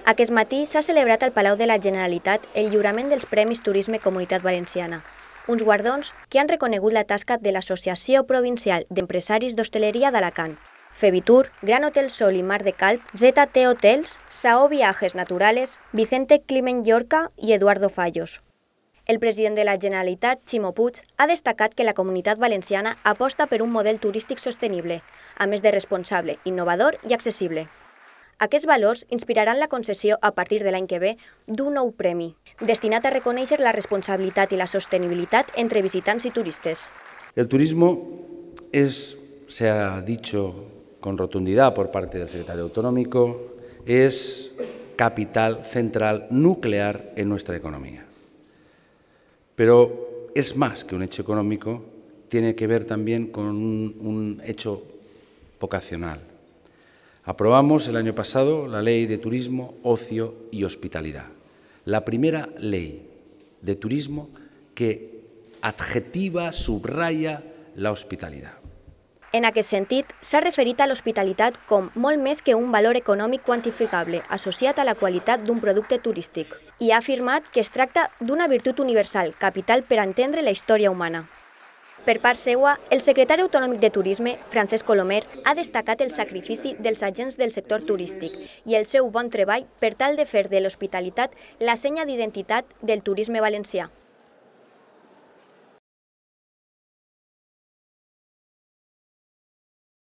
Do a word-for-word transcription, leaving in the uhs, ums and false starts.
Aquest matí s'ha celebrat al Palau de la Generalitat el lliurament dels Premis Turisme Comunitat Valenciana, uns guardons que han reconegut la tasca de l'Associació Provincial d'Empresaris d'Hostaleria d'Alacant, Fevitur, Gran Hotel Sol i Mar de Calp, Z T Hotels, Saó Viajes Naturales, Vicente Climent Llorca i Eduardo Fallos. El president de la Generalitat, Ximo Puig, ha destacat que la Comunitat Valenciana aposta per un model turístic sostenible, a més de responsable, innovador i accessible. Aquests valors inspiraran la concessió a partir de l'any que ve d'un nou premi, destinat a reconèixer la responsabilitat i la sostenibilitat entre visitants i turistes. El turismo es, se ha dicho con rotundidad por parte del secretario autonómico, es capital central nuclear en nuestra economía. Pero es más que un hecho económico, tiene que ver también con un, un hecho vocacional. Aprobamos el año pasado la Ley de Turismo, Ocio y Hospitalidad, la primera ley de turismo que adjetiva, subraya la hospitalidad. En aquest sentit, s'ha referit a l'hospitalitat com molt més que un valor econòmic quantificable associat a la qualitat d'un producte turístic i ha afirmat que es tracta d'una virtut universal, capital per entendre la història humana. Per part seua, el secretari autonòmic de Turisme, Francesc Colomer, ha destacat el sacrifici dels agents del sector turístic i el seu bon treball per tal de fer de l'hospitalitat la senya d'identitat del turisme valencià.